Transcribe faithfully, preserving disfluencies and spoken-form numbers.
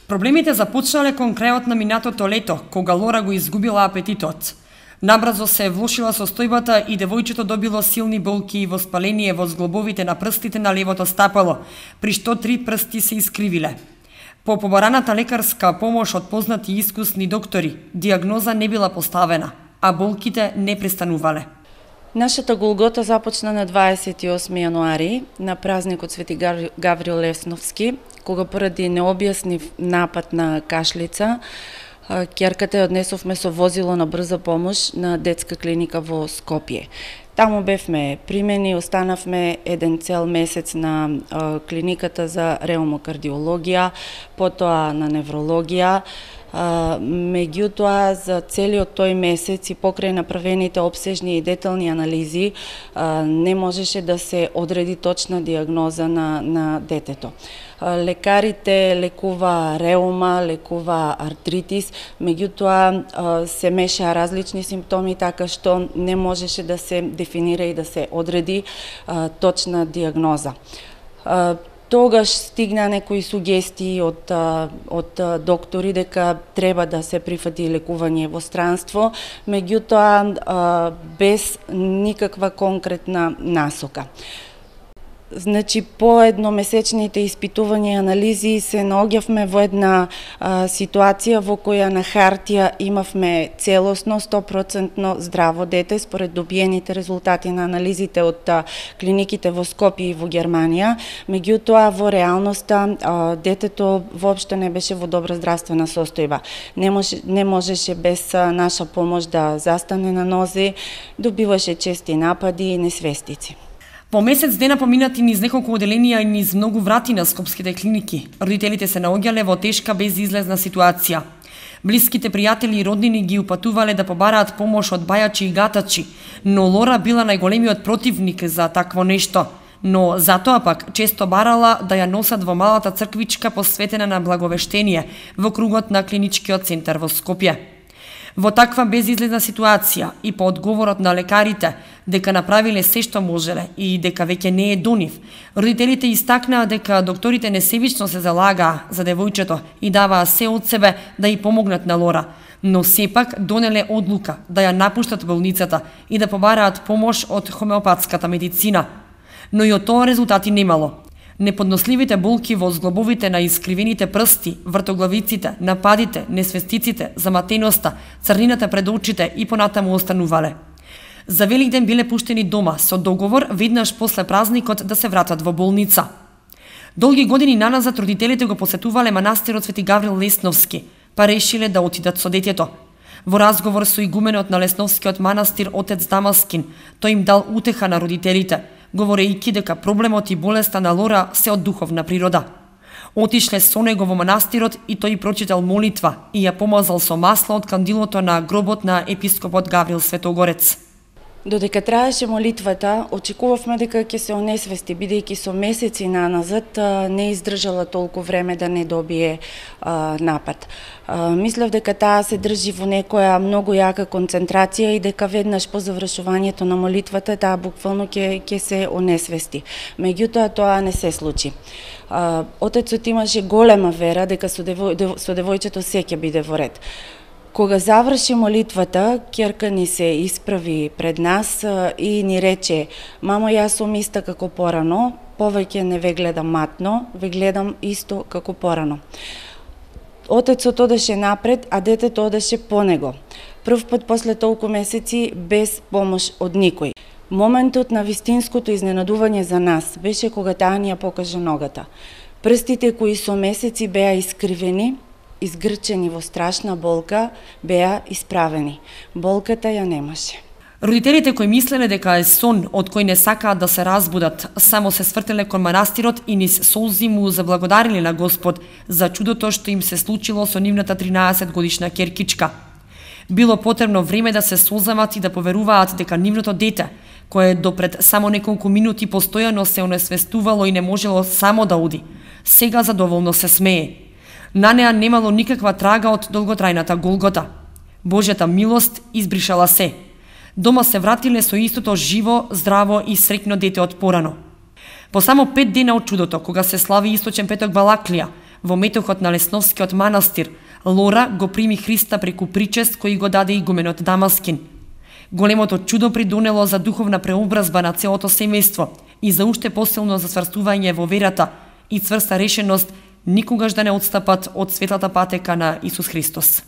Проблемите започнале кон крајот на минатото лето, кога Лора го изгубила апетитот. Набрзо се влошила состојбата и девојчето добило силни болки и воспаление во зглобовите на прстите на левото стапало, при што три прсти се искривиле. По побараната лекарска помош од познати и искусни доктори, диагноза не била поставена, а болките не престанувале. Нашата голгота започна на дваесет и осми јануари, на празникот Свети Гаврил Лесновски, кога поради необјаснив напад на кашлица, ќерката ја однесовме со возило на брза помош на детска клиника во Скопје. Таму бевме примени, останавме еден цел месец на клиниката за реумокардиологија, потоа на неврологија. Меѓутоа, за целиот тој месец и покрај направените обсежни и детални анализи, не можеше да се одреди точна диагноза на, на детето. Лекарите лекува реума, лекува артритис, меѓутоа се мешаа различни симптоми, така што не можеше да се дефинира и да се одреди точна диагноза. Тогаш стигна некои сугестии од, од доктори дека треба да се прифати лекување во странство, меѓутоа без никаква конкретна насока. Значи, по едномесечните испитувања и анализи се наоѓавме во една а, ситуација во која на хартија имавме целосно сто проценти здраво дете според добиените резултати на анализите од а, клиниките во Скопје и во Германија, меѓутоа во реалноста а, детето воопшто не беше во добра здравствена состојба. Не, може, не можеше без а, наша помош да застане на нозе, добиваше чести напади и несвестици. По месец дена поминати низ неколку оделенија и низ многу врати на скопските клиники, родителите се наоѓале во тешка безизлезна ситуација. Блиските пријатели и роднини ги упатувале да побараат помош од бајачи и гатачи, но Лора била најголемиот противник за такво нешто. Но затоа пак често барала да ја носат во малата црквичка посветена на благовештение во кругот на клиничкиот центар во Скопје. Во таква безизлезна ситуација и по одговорот на лекарите дека направиле се што можеле и дека веќе не е до нив, родителите истакнаа дека докторите несебично се залагаа за девојчето и даваа се од себе да ја помогнат на Лора, но сепак донеле одлука да ја напуштат болницата и да побараат помош од хомеопатската медицина. Но и од тоа резултати немало. Неподносливите болки во зглобовите на искривените прсти, вртоглавиците, нападите, несвестиците, заматеноста, црнината пред очите и понатаму останувале. За Великден биле пуштени дома со договор веднаш после празникот да се вратат во болница. Долги години наназад родителите го посетувале манастирот Свети Гаврил Лесновски, па решиле да отидат со детето. Во разговор со игуменот на Лесновскиот манастир отец Дамаскин, тој им дал утеха на родителите, говорејќи дека проблемот и болеста на Лора се од духовна природа. Отишле со него во манастирот и тој прочитал молитва и ја помазал со масло од кандилото на гробот на епископот Гаврил Светогорец. Додека траеше молитвата, очекувавме дека ќе се онесвести, бидејќи со месеци наназад не издржала толку време да не добие а, напад. А, мислев дека таа се држи во некоја многу јака концентрација и дека веднаш по завршувањето на молитвата таа буквално ќе ќе се онесвести. Меѓутоа тоа не се случи. А, отецот имаше голема вера дека со, девој, со девојчето се ќе биде во ред. Кога заврши молитвата, ќерка ни се исправи пред нас и ни рече: "Мамо, јас сум иста како порано, повеќе не ве гледам матно, ве гледам исто како порано." Отецот одеше напред, а детето одеше по него. Прв пат после толку месеци без помош од никој. Моментот на вистинското изненадување за нас беше кога таа ни ја покажа ногата. Прстите кои со месеци беа искривени, изгрчени во страшна болка, беа исправени. Болката ја немаше. Родителите кои мислеле дека е сон од кој не сакаат да се разбудат, само се свртеле кон манастирот и низ солзи му заблагодариле на Господ за чудото што им се случило со нивната тринаесет годишна ќеркичка. Било потребно време да се созамат и да поверуваат дека нивното дете, кое допред само неколку минути постојано се онесвестувало и не можело само да оди, сега задоволно се смее. На неа немало никаква трага од долготрајната голгота. Божјата милост избришала се. Дома се вратиле со истото живо, здраво и среќно дете од порано. По само пет дена од чудото, кога се слави Источен петок Балаклија, Во метохот на Лесновскиот манастир, Лора го прими Христа преку причест кој го даде игуменот Дамаскин. Големото чудо придонело за духовна преобразба на целото семејство и за уште посилно засврстување во верата и цврста решеност никогаш да не отстапат од светлата патека на Исус Христос.